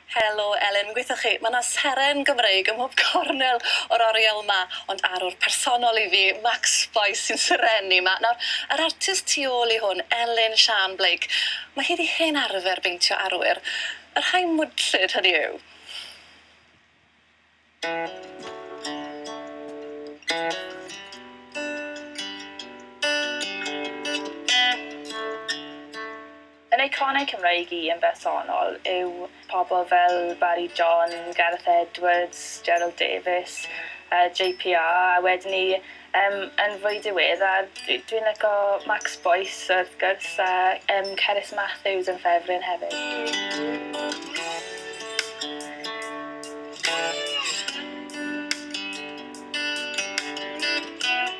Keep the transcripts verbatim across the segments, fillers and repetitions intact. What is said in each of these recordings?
Helo Elin, gweithio chi, mae yna seren Gymreig ym mhob cornel o'r oriel yma, ond arwr personol i fi, Max Boyce sy'n serennu yma. Nawr, yr artist tu ôl i hwn, Elin Sian Blake, mae hi wedi hen arfer beintio arwyr. Y rhai mwdlyd hynny yw. Yn eiconau Cymreig i yn bersonol yw pobl fel Barry John, Gareth Edwards, Gerald Davies, uh, J P R, a wedyn ni um, yn fwy diweddar, dwi'n dwi licio Max Boyce wrth gwrs a um, Cerys Matthews yn ffefryn hefyd.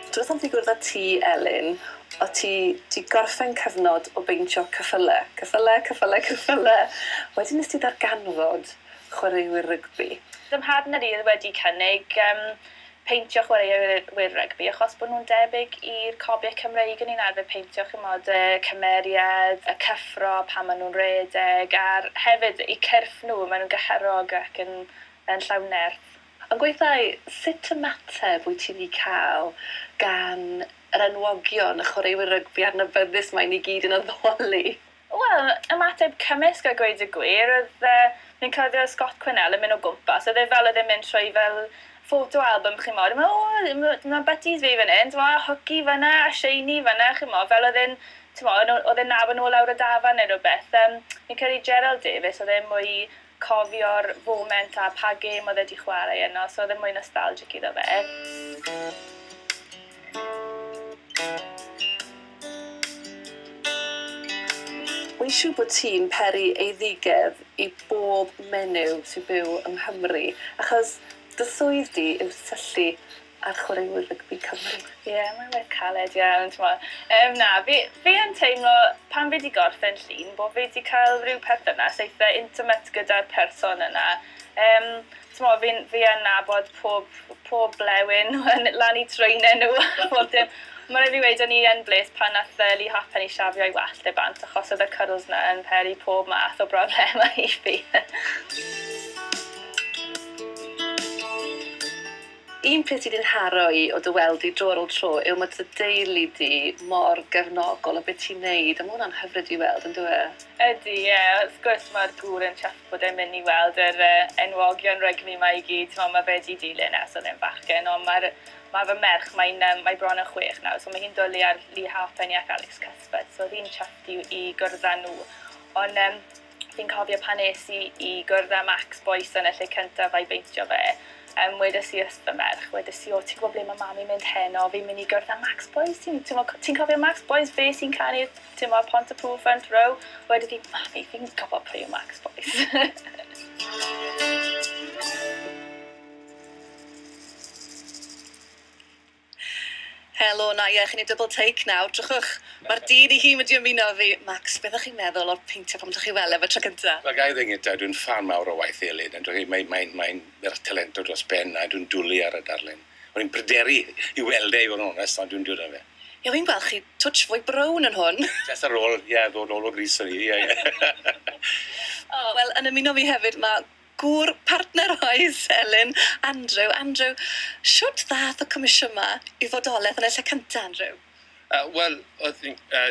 Dwi'n am ddigwydd â ti, Elin, o ti di gorffen cyfnod o beintio ceffyle. Ceffyle, ceffyle, ceffyle. Wedyn nes ti ddarganfod chwaraewyr rygbi. Fy mhartner i wedi cynnig um, peintio chwaraewyr rygbi achos bod nhw'n debyg i'r cobiau Cymreig yn un arfer peintio, chimod, y cymeriad, y cyffro pan maen nhw'n redeg, a'r hefyd eu cyrff nhw, maen nhw'n gyhyrog ac yn, yn llawn nerth. Ond gweithio, sut ymateb wyt ti wedi cael gan yr enwogion, y chwaraewyr rygbi adnabyddus mae ni gyd yn addoli? Wel, ymateb cymysg a gweud y gwir, oedd uh, fi'n cofio Scott Quinnell yn mynd o gwmpas, oedd e fel oedd e'n mynd trwy fel photo album, chimod, o, mae butties fi fan hyn, mae hwci fan'na, a sheini fan'na, chimod, fel oedd e'n, oedd e'n nabod nhw lawr y dafarn neu rhywbeth. Um, fi'n credu Gerald Davies, oedd e'n mwy cofio'r foment a pa gêm oedd e wedi chwarae yno, so oedd e'n mwy nostalgic iddo fe. Wy'n siŵr bod ti'n peri eiddigedd i bob menyw sy'n byw yng Nghymru, achos dy swydd di yw syllu ar chwaraewyr rygbi Cymru. Ie, yeah, mae'n waith caled iawn, t'mod. Um, na, fi, fi yn teimlo, pan fi wedi gorffen llun, bod fi wedi cael rhyw perthynas eitha intimate gyda'r person yna. Um, t'mod, fi, fi yn nabod pob, pob blewyn lan i trwynau nhw, pob dim. Mae'n rhaid fi weud, o'n i yn bles pan nath Lee Halfpenny siafio ei wallt e bant, achos oedd y curls na yn peri pob math o broblemau i fi. Un peth sydd wedi'n haro i o dy weld i dro ar ôl tro yw mae dy deulu di mor gefnogol o beth ti'n neud, a mae hwnna'n hyfryd i weld, yn dyw e? Ydy, ie. Yeah. Wrth gwrs mae'r gŵr yn chuffed bod e'n mynd i weld yr uh, enwogion rygbi ma i gyd. Mae fe wedi dilyn ers oedd e'n fachgen, ond mae'r mae fy merch, mae'n um, mae bron yn chwech nawr, so mae hi'n dwlu ar Lee Halfpenny ac Alex Cuthbert, so oedd hi'n chuffed i, i gwrdd â nhw. Ond um, fi'n cofio pan es i i gwrdd â Max Boyce yn y lle cyntaf a'i beintio fe, um, wedes i wrth fy merch, wedes i, o, ti'n gwybod ble mae mami mynd heno, fi'n mynd i gwrdd â Max Boyce, ti'n ti cofio Max Boyce, fe sy'n canu, ti'n mo, Pontypool Front Row, wedes i, mami, fi'n gwybod pwy yw Max Boyce. Helo, na ie, chi'n ei double take nawr. Drychwch, mae'r dyn i hun wedi ymuno fi. Max, beth ydych chi'n meddwl o'r peintio pan ydych chi weld efo tro cynta? Wel, ga i ddweud gyntaf, dwi'n ffan mawr o waith Elin. Mae'n mae, mae talentog dros ben a dwi'n dwlu ar y darlun. O'n i'n pryderu i weld e, i fod yn onest, ond dwi'n dwlu ar fe. Ie, fi'n gweld chi touch fwy brown yn hwn. Just ar ôl, ie, ddod nôl o gris o'n i, ie, ie. O, wel, yn ymuno fi hefyd, mae gŵr partner oes, Elin, Andrew. Andrew, shwt ddath y comisiwn yma i fodolaeth yn y lle cyntaf, Andrew? Uh, Wel, uh,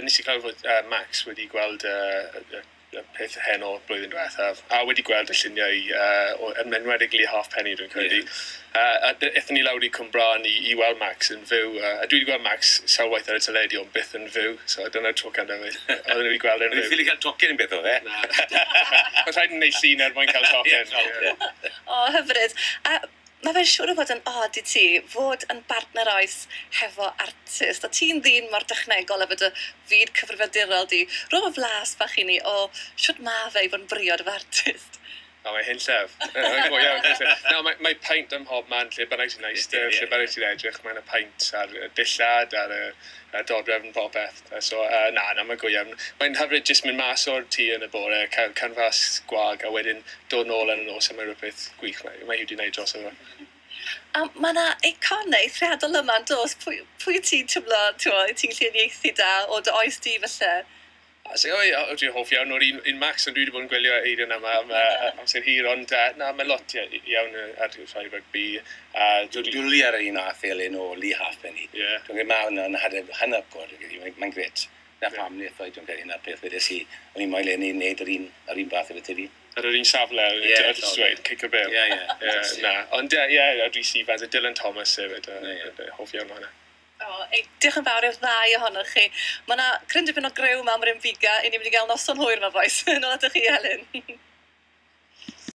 nes i clywed fod uh, Max wedi gweld uh, y, y peth heno blwyddyn diwethaf, a wedi gweld y lluniau, uh, yn enwedig Lee Halfpenny, dwi'n credu. Yeah. Uh, a aethon ni lawr i Cwmbran i, i weld Max yn fyw. Uh, a dwi wedi gweld Max sawl waith ar y teledu, ond byth yn fyw, so dyna'r tro cyntaf fi. Oedden nhw wedi gweld e'n fyw. O'n i'n ffili cael tocyn yn beth o fe? Na. Mae'n rhaid yn neud llun er mwyn cael tocyn. Yeah. O, hyfryd. A mae fe'n siŵr o fod yn od i ti fod yn bartner oes hefo artist. A ti'n ddyn mor dechnegol efo dy fyd cyfrifiadurol di. Rho fy flas bach i ni o shwt ma fe i fod yn briod efo artist. O, mae hunllef. Na, mae, mae paint ym mhob man, lle bynnag ti'n eistedd, lle bynnag ti'n edrych, mae'n y paint ar y dillad, ar y, y dodrefn, popeth. So, uh, na, na, mae'n go iawn. Mae'n hyfryd jyst mynd mas o'r tŷ yn y bore, cael canfas gwag, a wedyn dod nôl yn y nos, a mae rhywbeth gwych mae, mae hi wedi gwneud dros efo. A mae yna eiconau eithriadol yma, yn does? Pwy, pwy ti'n teimlo, ti'n ti'n gallu uniaethu da o dy oes di falle? A so, o, ie, dwi'n hoff iawn o'r un, un Max, ond dwi wedi bod yn gwylio Eirian am, am uh, amser hir, ond uh, na, mae lot iawn ar rhai rygbi. Uh, Dwi'n dwlu ar yr un ath Elin o Lee Halfpenny. Yeah. Dwi'n credu mae hwnna'n hynod, mae'n gret. Na pam yeah. wnaeth dwi'n credu na'r peth wedes i, o'n i'n moyn Lenny wneud yr un, yr un fath efo ti. Ar yr un safle, Ie, dweud, cic y bêl. Ie, ie. Na, ond ie, ie, Rhys Ifans a Dylan Thomas hefyd, hoff iawn o hwnna. O, ei, diolch yn fawr i'r ddau ohonoch chi. Mae yna cryn dipyn o grew yma am yr Biga, i ni mynd i gael noson hwyr yma, boys. Nôl atoch chi, Helen.